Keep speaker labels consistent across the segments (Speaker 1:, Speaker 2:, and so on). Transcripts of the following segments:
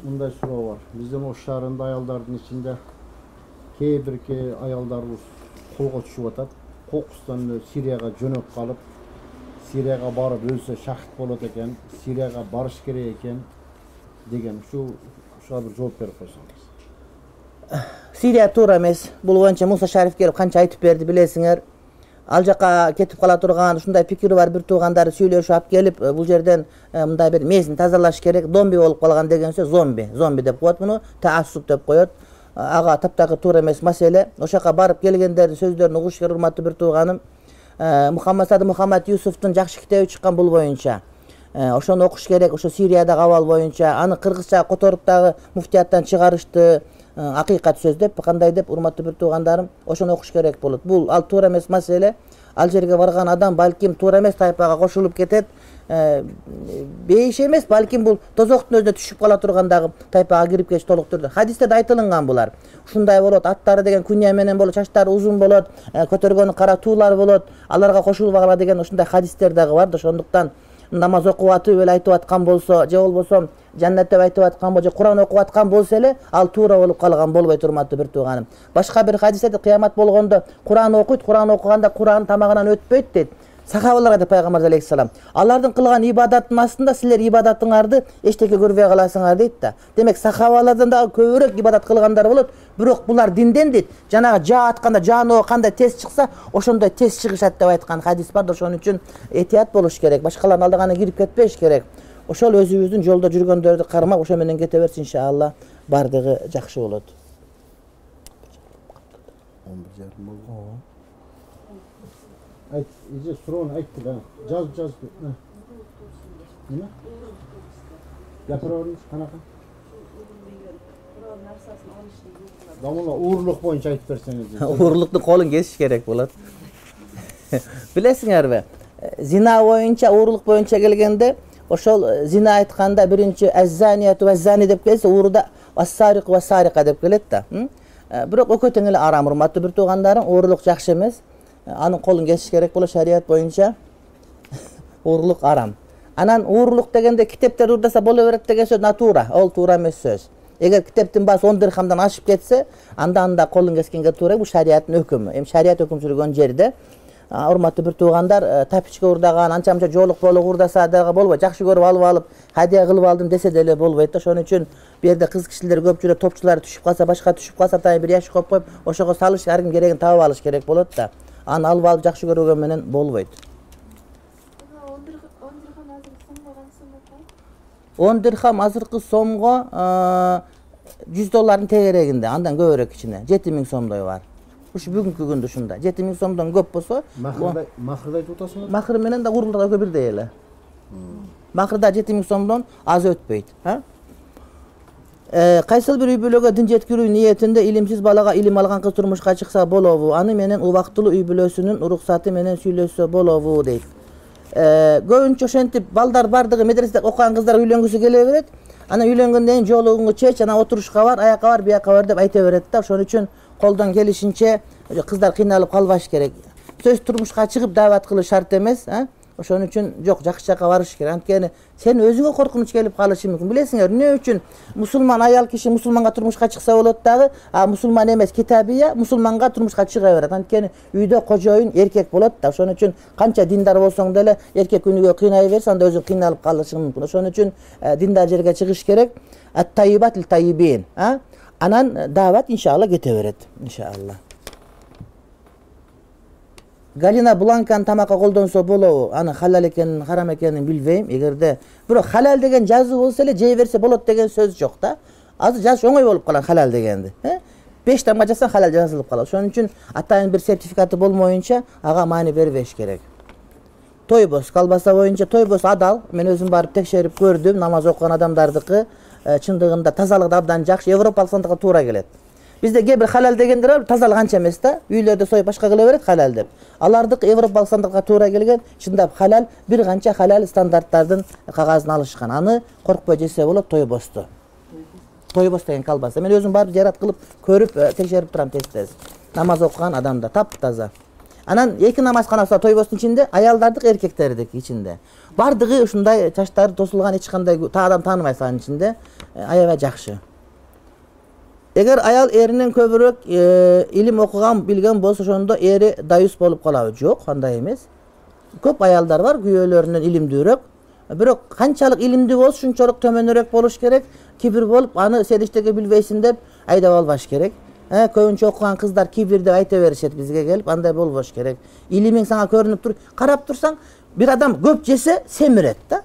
Speaker 1: Мындай суроо бар. Биздин Ош шаарында аялдардын ичинде кээ бир аялдарыбыз колго түшүп атат. Кокустан Сирияга жөнөп калып, Сирияга барып өлсө шахид болот экен, Сирияга барыш керек экен деген ушуга бир жооп берип койсоңуз.
Speaker 2: Сирия туура эмес. Бул боюнча Муса Шариф келип канча айтып берди билесиңер. Ал жака кетип кала турган ушундай пикири бар бир туугандары сүйлөшүп алып келип, бул жерден мындай бир мээсин тазалаш керек, зомби болуп калган деген сөз, зомби деп коет муну, таассуп деп коет. Ага таптакыр туура эмес маселе. Ошол жака барып келгендердин сөздөрүн угуш керек, урматтуу бир тууганым. Мухаммад Юсуфтун жакшы китеби чыккан бул боюнча. Ошону окуш керек, ошо Сириядагы абал боюнча. Аны кыргызча которуп дагы муфтияттан чыгарышты. Акыйкат сөз деп, кандай деп, урматтуу бир туугандарым, ошону окуш керек болот. Бул ал туура эмес маселе. Ал жерге барган адам балким туура эмес тайпага кошулуп кетет. Бейиш эмес, балким бул тозоктун өзүнө түшүп кала тургандагы тайпага кирип кетиш толук түрдө. Хадистерде айтылган булар. Ушундай болот, аттары деген күнья менен болот, чачтары узун болот, көтөргөнү кара туулар болот. Аларга кошулбагыла деген ушундай хадистер дагы бар. Ошондуктан намаз окуп атып эле айтып аткан болсо, же болбосо жаннат деп айтып аткан болсо, же Куран окуп аткан болсо эле ал туура болуп калган болбойт, урматтуу бир тууганым. Башка бир хадисте кыямат болгондо Куран окуйт, Куран окуганда Куран тамагынан өтпөйт дейт. Сахабаларга деп пайгамбар алейхиссалам. Алардын кылган ибадаттын астында силер ибадатыңарды эчтеке көрбөй каласыңар дейт да. Демек сахабалардан дагы көбүрөөк ибадат кылгандар болот, бирок булар динден дейт. Жанагы жаа атканда жааноо кандай тез чыкса, ошондой тез чыгышат деп айткан хадис бар да, ошон үчүн этият болуш керек. Башкалардын алдаганы кирип кетпеш керек. Ошол өзүбүздүн жолдо жүргөндөрдү кармап, ошо менен кете берсин, иншалла бардыгы жакшы болот.
Speaker 1: 11:30 болду. Ayt, iyice sorun ayttı da. Caz. Ne? Yapıyoruz kanaka. Damla uğurluk boyunca aytıp berseniz.
Speaker 2: Uğurluktun kolun kesiş gerek bulat. Bilesiңерби? Zina boyunca, uğurluk boyunca gelgende, oşol zina aytkanda birinci ezzaniyatu ve zani dep kelse, uğurda as-sariq ve sariqa dep kelet da. Bирок өкөтөң эле арам, урматтуу бир туугандарым, уğurluk жакшы эмес. Анын колун кесиш керек болот, шарият боюнча уурлук арам. Анан уурлук дегенде китептер урдаса боло берет деген сөз натура, ол туура эмес сөз. Эгер китептин баасы 10 дирхамдан ашып кетсе, анда колун кескенге туура, бул шариаттын өкүмү. Эми шарият өкүм сүргөн жерде урматтуу бир туугандар, тапичке урдаган, анча-мынча жоолук урдаса дагы болбойт. Жакшы көрүп алып, хадия кылып алдым десе деле болбойт да. Ошон үчүн бу жерде кыз кишилер көп жүрөт, топчулар түшүп калса, башка түшүп калса, тай бир ящик коюп, ошого салыш, ар ким керегин таап алыш керек болот да. Аны алып жакшы көргөн менен болбойт. 10 дирхам азыркы сомго $100 тегерегинде, андан көбүрөөк кичине, 7000 сомдой бар. Ушу бүгүнкү күндө ушундай. 7000 сомдон көп болсо,
Speaker 1: махырды айтып атасыңбы?
Speaker 2: Махыр менен да урлар да бирдей эле. Махырда 7000 сомдон аз өтпөйт, Кайсыл бир үй бүлөгө дин жеткирүү ниетинде илимсиз балага илим алган кыз турмушка чыкса болобу? Аны менен убактылуу үй бүлөсүнүн уруксаты менен сүйлөшсө болобу дейт. Көбүнчө ошентип балдар бардыгы медреседе окуган кыздар үйлөнгүсү келе берет. Анан үйлөнгөндөн кийин жолугуңду чеч, анан отурушка бар, аяка бар, бияка бар деп айта берет да. Ошон үчүн колдон келишинче кыздар кыйналып калбаш керек. Сөз турмушка чыгып даават кылыш шарт эмес, Ошон үчүн жок, жакшы жака барыш керек. Анткени сен өзүңө коркунуч келип калышы мүмкүн. Билесиңер, эмне үчүн мусулман аял киши мусулманга турмушка чыкса болот дагы, мусулман эмес китабия мусулманга турмушка чыга берет. Анткени үйдө кожоюн эркек болот да. Ошон үчүн канча диндар болсоң деле эркек күнүгө кыйнай берсе, анда өзүң кыйналып калышың мүмкүн. Ошон үчүн диндар жерге чыгыш керек. Ат-тайибат лит-тайибин. Анан даават иншалла кете берет, иншалла. Галина Бланканы тамакка колдонсо болобу? Аны халал экенин, харам экенин билбейм. Эгерде бирок халал деген жазуу болсо эле жей берсе болот деген сөз жок да. Азыр жазыш оңой болуп калат халал дегенди. 5 тамга жазсаң халал жазылып калат. Ошон үчүн атайын бир сертификаты болмоюнча ага маани бербеш керек. Тойбос колбаса боюнча тойбос адал. Мен өзүм барып текшерип көрдүм, намаз окуган адамдардыкы чындыгында тазалыгы абдан жакшы, европалык сандыкка туура келет. Бизде кээ бир халал дегендер бар, тазалык анча эмес да. Үйлөрдө союп башка кыла берет халал деп. Алардык европалык стандартка туура келген, чындап халал, бир канча халал стандарттардын кагазын алышкан. Аны коркпой жесе болот, тойбосту. Тойбос деген колбаса. Мен өзүм барып жарат кылып, көрүп, текшерип турам тез-тез. Намаз окуган адамда таптаза. Анан эки намазканасы тойбостун ичинде, аялдардык, эркектердик ичинде. Бардыгы ушундай чачтары тосулган, эч кандай адам тааныбайсыз анын ичинде. Аябай жакшы. Эгер аял эринен көбүрөөк илим окуган, билген болсо, ошондо эри даюс болуп калабы? Жок, андай эмес. Көп аялдар бар, күйөөлөрүнөн илимдүүрөөк. Бирок канчалык илимдүү болсо, шунчалык төмөнүрөөк болуш керек. Кибир болуп, аны сен эчтеке билбейсиң деп айдап албаш керек. Көбүнчө окуган кыздар кибир деп айта беришет бизге келип, андай болбош керек. Илимиң сага көрүнүп тур, карап турсаң, бир адам көп жесе семирет да.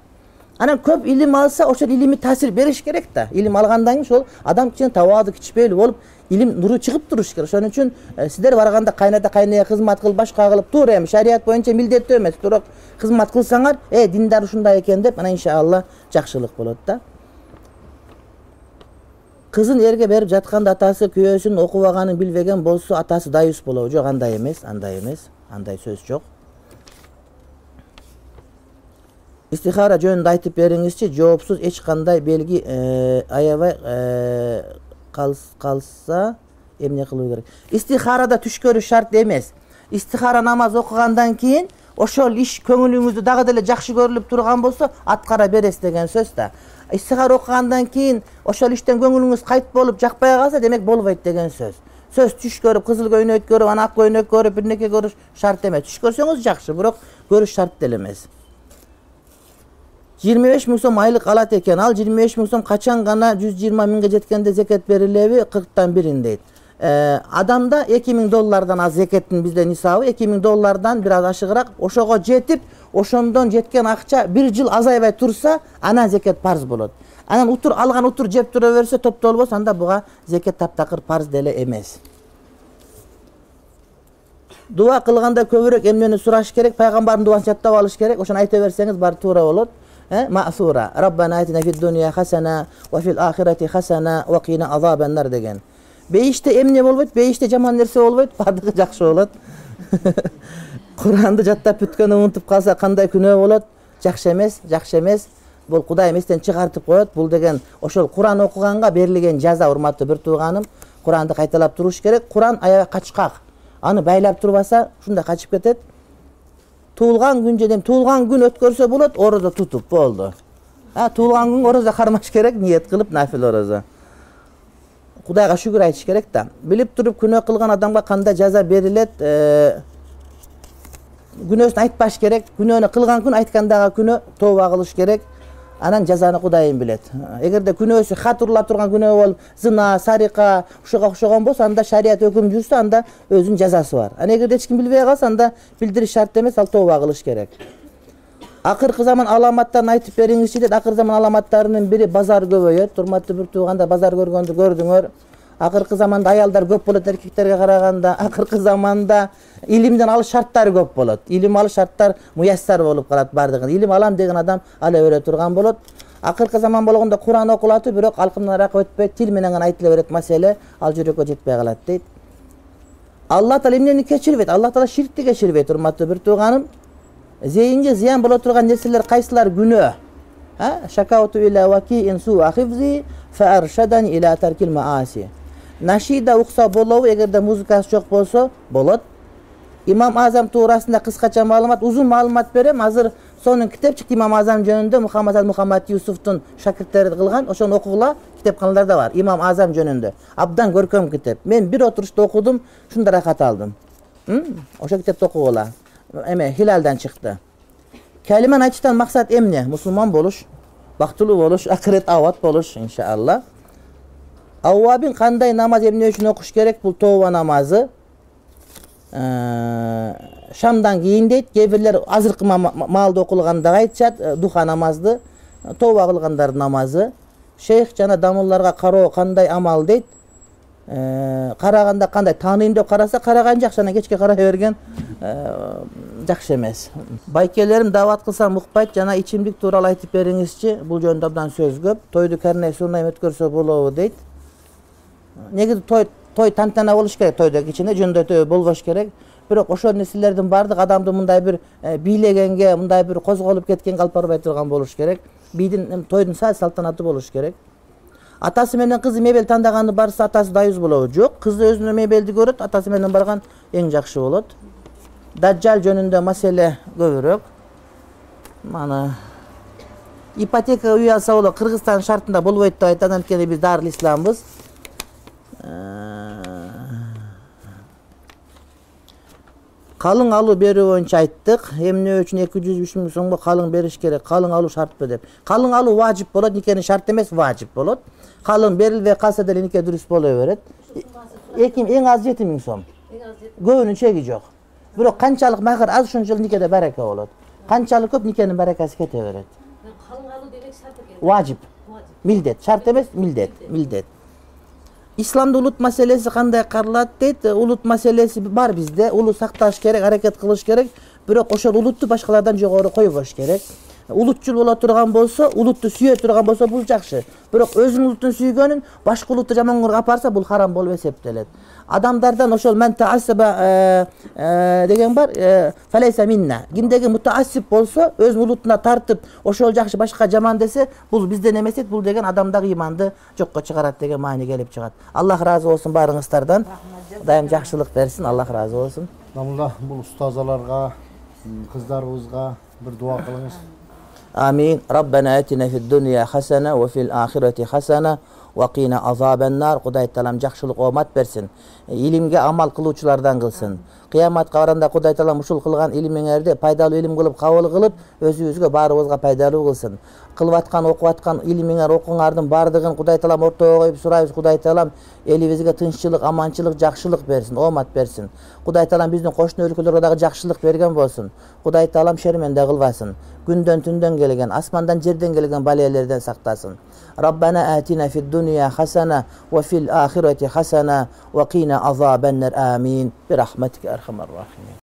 Speaker 2: Анан көп илим алса, ошол илими таасир бериш керек да. Илим алгандан кийин ошол адам кичине табаадуу, кичпелүү болуп, илим нуру чыгып туруш керек. Ошон үчүн сиздер барганда кайната кайныя кызмат кыл, башка кылып туура эми шарият боюнча милдеттүү эмес, бирок кызмат кылсаңар, диндар ушундай экен деп, анан иншалла жакшылык болот да. Кызын эрге берип жатканда атасы күйөөсүн окубаганын билбеген болсо, атасы даюс болобу? Жок, андай эмес, андай сөз жок. Истихара жөнүндө айтып бериңизчи, жоопсуз эч кандай белги аябай калса эмне кылуу керек? Истихарада түш көрүш шарт эмес. Истихара намаз окугандан кийин ошол иш көңүлүңүздө дагы деле жакшы көрүлүп турган болсо, аткара бересиз деген сөз да. Истихара окугандан кийин ошол иштен көңүлүңүз кайт болуп жакпай калса, демек болбойт деген сөз. Сөз түш көрүп, кызыл көйнөк көрүп, ана ак көйнөк көрүп, бир неке көрүш шарт эмес. Түш көрсөңүз жакшы, бирок көрүш шарт деле эмес. 25 миң сом айлык алат экен. Ал 25 миң сом качан гана 120 миңге жеткенде зекет берилеби? 40тан бирин дейт. Адамда 2000 доллардан аз зекеттин бизде нисабы, 2000 доллардан бир аз ашыгыраак, ошого жетип, ошондон жеткен акча бир жыл азайбай турса, анан зекет парз болот. Анан алган утур жеп тура берсе, топтолбос, анда буга зекет таптакыр парз деле эмес. Дуа кылганда көбүрөөк эмнени сураш керек? Пайгамбардын дуасын жаттап алыш керек. Ошону айта берсеңиз баары туура болот. Маъсура. Раббана атина фид дунья хасана ва фил ахирати хасана ва кина азабан нар деген. Бейиште эмне болбойт? Бейиште жаман нерсе болбойт, бардыгы жакшы болот. Куранды жаттап бүткөндө унутуп калса кандай күнөө болот? Жакшы эмес. Бул Кудай эместен чыгартып коет. Бул деген ошол Куран окуганга берилген жаза, урматтуу бир тууганым. Куранды кайталап туруш керек. Куран аябай качкак. Аны байлап турбаса, ушундай качып кетет. Туулган күн өткөрсө болот, орозо тутуп болду. Туулган күн орозо кармаш керек, ниет кылып нафил орозо. Кудайга шүгүр айтыш керек да. Билип туруп күнөө кылган адамга кандай жаза берилет? Күнөөсүн айтпаш керек. Күнөөнү кылган күн, айткандагы күнөө тооба кылыш керек. Анан жазаны Кудайым билет. Эгерде күнөөсү хат урула турган күнөө болуп, зына, сарика, ушуга окшогон болсо, анда шарият өкүм жүрсө, анда өзүнүн жазасы бар. Эгерде эч ким билбей калса, анда билдириш шарт эмес, ал тооба кылыш керек. Акыркы заман аламаттарын айтып бериңизчи дейт. Акыркы заман аламаттарынын бири базар көбөйөт. Урматтуу бир туугандар, базар көргөндү көрдүңөр. Акыркы заманда аялдар көп болот эркектерге караганда. Акыркы заманда илимден алыш шарттары көп болот. Илим алыш шарттар муяссар болуп калат бардыгы. Илим алам деген адам ала бере турган болот. Акыркы заман болгондо Куран окулат, бирок алкымдараак өтпөйт, тил менен гана айтыла берет маселе, ал жүрөккө жетпей калат дейт. Алла Таала эмнени кечирбейт? Алла Таала ширкти кечирбейт, урматтуу бир тууганым. Зейинге зыян боло турган нерселер кайсылар күнөө? Шакауту иля вакиин суа хифзи фа аршадани иля таркил мааси. Нашида укса болобу, эгерде музыкасы жок болсо, болот. Имам Азам туурасында кыскача маалымат, узун маалымат берем. Азыр сонун китеп чыкты Имам Азам жөнүндө, Мухаммад Юсуфтун шакирттери кылган, ошону окугула, китепканаларда бар. Имам Азам жөнүндө. Абдан көркөм китеп. Мен бир отурушта окудум, шундай рахат алдым. Ошо китепти окугула. Хилалдан чыкты. Калиманы айтыштан максат эмне? Мусулман болуш, бактылуу болуш, акырет абад болуш, иншалла. Аввабин кандай намаз эмне үчүн окуш керек? Бул тооба намазы. Шамдан кийин дейт. Кээ бирлер азыркы маалда окулгандыгы айтышат, духа намазды, тооба кылгандар намазы. Шейх жана дамылларга кароо кандай амал дейт? Караганда кандай тааныйм деп караса, караган жакшы, анан кечке карай берген жакшы эмес. Байкелерим дават кылсам укпайт, жана ичимдик тууралуу айтып бериңизчи. Бул жөнүндө абдан сөз көп. Тойду карнай сунайм өткөрсө болобу дейт. Негизи той той тантана болуш керек, тойдо кичине жөндөтүү болбош керек. Бирок ошол нерселердин баардыгы адамды мындай бир бийлегенге, мындай бир козголуп кеткенге алып барбай турган болуш керек. Бийдин тойдун салтанаты болуш керек. Атасы менен кызы мебель тандаганы барса атасы дайыз болобу? Жок, кызы өзүнө мебелди көрөт, атасы менен барган эң жакшы болот. Даджал жөнүндө маселе көбүрөөк. Мана ипотека үй алса болот, Кыргызстан шартында болбойт деп айтат, анткени биз Дарыл Исламбыз. Калың алуу берүү боюнча айттык. Эмне үчүн 203 миң сомго калың бериш керек? Калың алуу шартпы деп. Калың алуу важип болот, никени шарт эмес, важип болот. Калың берилбей калса деле нике дурус боло берет. Эң аз 7 миң сом. Көбүнүн чеги жок. Бирок канчалык махыр аз, ошончолук никеде барака болот. Канчалык көп, никенин баракасы кете берет.
Speaker 3: Калың алуу демек шарт экен.
Speaker 2: Важип. Милдет, шарт эмес, милдет. Исламда улут маселеси кандай каралат дейт? Улут маселеси бар бизде. Улут сакташ керек, аракет кылыш керек. Бирок ошол улутту башкалардан жогору койбош керек. Улутчул боло турган болсо, улутту сүйө турган болсо бул жакшы. Бирок өзүнүн улуттун сүйгөнүн башка улутту жаман көрүп апарса, бул харам болуп эсептелет. Адамдардан ошол мен таассаба деген бар, фалейса минна. Кимдеги мутаассип болсо, өзүнүн улутуна тартып, ошол жакшы башка жаман десе, бул бизден эмес, бул деген адамдагы иманды жокко чыгарат деген маани келип чыгат. Аллах разы болсун баарыңыздардан. Кудайым жакшылык берсин, Аллах разы болсун.
Speaker 1: Намулла бул устазаларга, кыздарыбызга бир дуа кылыңыз.
Speaker 2: Амин. Раббана атина фид дунья хасана ва фил ахирати хасана ва кина азабан-нар. Кудай Таалам жакшылык оомат берсин. Илимге амал кылуучулардан кылсын. Кыяматка барганда Кудай Таалам ушул кылган илимиңерди пайдалуу илим кылып кабыл кылып, өзүбүзгө баарыбызга пайдалуу кылсын. Кылып аткан, окуп аткан илимиңер, окуңардын баардыгын Кудай Таалам ортого коюп сурайбыз. Кудай Таалам элибизге тынччылык, аманчылык, жакшылык берсин, оомат берсин. Кудай Таалам биздин кошуна өлкөлөргө дагы жакшылык берген болсун. Кудай Таалам шерменде кылбасын. Күндөн түндөн келген, асмандан жерден келген балиялерден сактасын. Rabbana atina fid dunya hasana wa fil akhirati hasana wa qina azaban-nar. Amin. Bi rahmatika arhamar rahimin.